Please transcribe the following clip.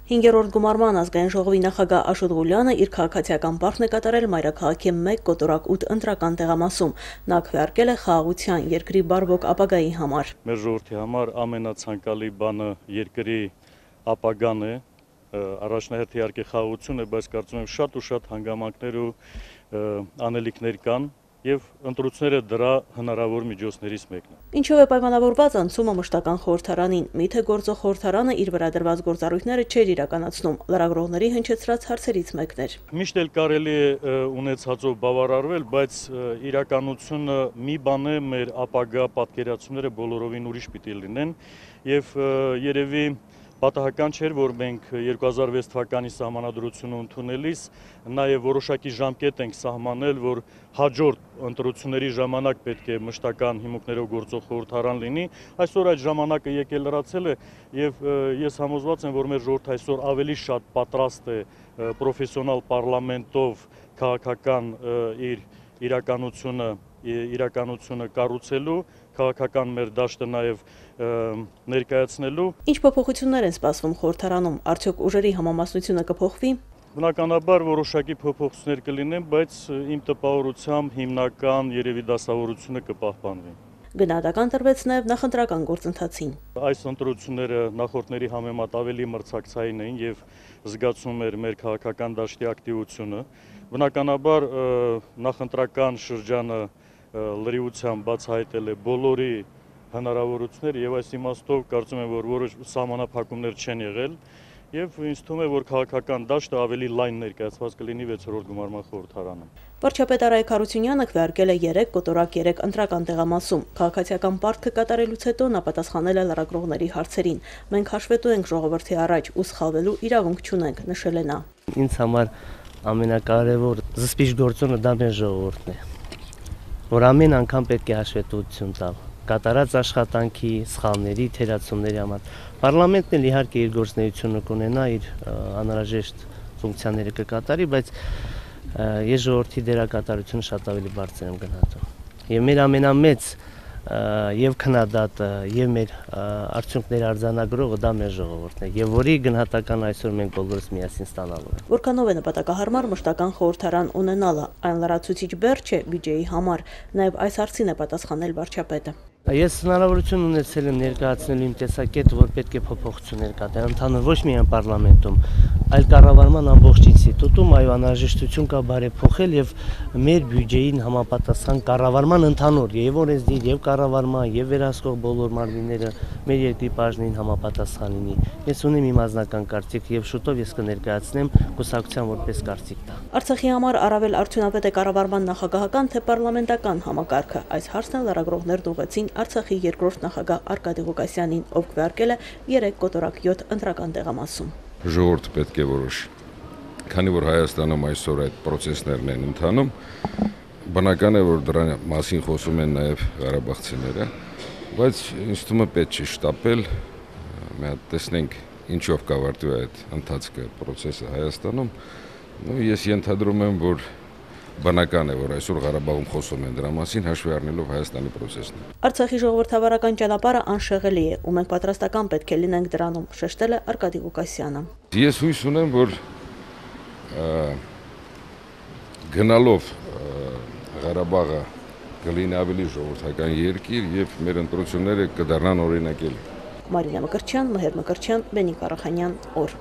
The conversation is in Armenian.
5-րդ գումարման ազգային ժողովի նախագահ Աշոտ Ղուլյանը իր քաղաքացիական պարտքն է կատարել մայրաքաղաքի 1/8 ընտրական տեղամասում։ Նա քվեարկել է խաղաղության, երկրի բարվոք ապագայի համար։ Մեր ժողովրդի համար ամենացանկալի բանը երկրի ապագան է, առաջնահերթ իհարկե խաղաղություն է, բայց կարծում եմ շատ ու շատ հանգամանքներ ու անելիքներ կան։ Եվ ընտրությունները դրա հնարավոր միջոցներից մեկն է։ Ինչով է պայմանավորված անցումը մշտական խորհրդարանին։ Միթե գործող խորհրդարանը իր վրա դրված գործառույթները չէր իրականացնում, լրագրողների հնչեցրած հարցերից մեկն էր։ Միշտ էլ կարելի է ունեցածով բավարարվել, բայց իրականությունը մի բան է, մեր ապագա պատկերացումները բոլորովին ուրիշ պիտի լինեն, եւ երևի պատահական չէր, որ մենք 2006 թվականի սահմանադրությունը ընդունելիս նաև որոշակի ժամկետ ենք սահմանել, որ հաջորդ ընտրությունների ժամանակ պետք է մշտական հիմունքներով գործող խորհրդարան լինի։ Այսօր այդ ժամանակը եկել լրացել է եւ ես համոզված եմ, որ մեր ժողովուրդը այսօր ավելի շատ պատրաստ է պրոֆեսիոնալ պարլամենտով քաղաքական իր իրականությունը կառուցելու, քաղաքական մեր դաշտը նաև ներկայացնելու։ Ինչ փոփոխություններ են սպասվում խորհրդարանում, արդյոք ուժերի համամասնությունը կփոխվի։ Բնականաբար որոշակի փոփոխություններ կլինեն, բայց իմ տպավորությամբ հիմնական երևի դասավորությունը կպահպանվի։ Գնահատական տրվեց նաև նախընտրական գործընթացին։ Այս ընտրությունները նախորդների համեմատ ավելի մրցակցային էին եւ զգացում էր մեր քաղաքական դաշտի ակտիվությունը։ Բնականաբար նախընտրական շրջանը լրիվությամբ բացահայտել է բոլորի հնարավորությունները եւ այս իմաստով կարծում եմ, որ որոշ սահմանափակումներ չեն եղել եւ ինձ թվում է, որ քաղաքական դաշտը ավելի լայն ներկայացված կլինի 6-րդ գումարման խորհրդարանում։ Վարչապետ Արայք Հարությունյանը քվեարկել է 3/3 ընտրական տեղամասում։ Քաղաքացիական պարտքը կատարելուց հետո նա պատասխանել է լրագրողների հարցերին։ Մենք հաշվետու ենք ժողովրդի առաջ ու սխալվելու իրավունք չունենք, նշել է նա։ Ինձ համար ամենակարևոր զսպիչ գործոնը դա մեր ժողովուրդն է, որ ամեն անգամ պետք է հաշվետվություն տա կատարած աշխատանքի, սխալների, թերացումների համար։ Պարլամենտն էլ իհարկե իր գործունեությունը կունենա, իր անհրաժեշտ ֆունկցիաները կկատարի, բայց ես ժողովրդի դերակատարությունը շատ ավելի բարձր եմ գնահատում։ Եվ մեր ամենամեծ եւ քննադատը եւ մեր արդյունքների արձանագրողը դա մեր ժողովուրդն է եւ որի գնահատական այսօր մենք բոլորս միասին ստանալու ենք։ Որքանով է նպատակահարմար մշտական խորհրդարան ունենալը, այն լրացուցիչ բեռ չէ բյուջեի համար, նաեւ այս հարցին է պատասխանել վարչապետը։ Ես հնարավորություն ունեցել եմ ներկայացնել իմ տեսակետը, որ պետք է փոփոխություններ կատարել, ընդհանուր ոչ միայն պարլամենտում, այլ կառավարման ամբողջ ինստիտուտում, այո, անհրաժեշտություն կա բարեփոխել եւ մեր բյուջեին համապատասխան կառավարման ընդհանուր եւ օրենսդիր եւ կառավարման եւ վերահսկող բոլոր մարմինները մեր երկրի բաժնին համապատասխան լինի։ Ես ունեմ իմ անձնական կարծիք եւ շուտով ես կներկայացնեմ կուսակցության որպես կարծիք տա։ Արցախի համար առավել արդյունավետ է կառավարման նախագահական թե պարլամենտական համակարգը։ Այս հարցն լրագրողներն ուղղեցին Արցախի երկրորդ նախագահ Արկադի Ղուկասյանին, ով քվեարկել է 3/7 ընտրական տեղամասում։ Ժողովուրդը պետք է որոշի։ Քանի որ Հայաստանում այսօր այդ process-ներն են ընթանում, բնական է, որ դրա մասին խոսում են նաև ղարաբաղցիները, բայց ինձ թվում է պետք չի շտապել, մի հատ տեսնենք ինչով կավարտվի այդ ընթացքը, process-ը Հայաստանում։ Ես ենթադրում եմ, որ բնական է, որ այսօր Ղարաբաղում խոսում են դրա մասին, հաշվի առնելով Հայաստանի process-ն։ Արցախի ժողովրդավարական ճանապարհը անշեղելի է, ու մենք պատրաստական պետք է լինենք դրանում, շեշտել է Արկադի Ղուկասյանը։ Ես հույս ունեմ, որ գնալով Ղարաբաղը կլինի ավելի ժողովրդական երկիր եւ մեր ընտրությունները կդառնան օրինակելի։ Մարինա Մկրտչյան, Մհեր Մկրտչյան, Բենիկ Արախանյան, օր։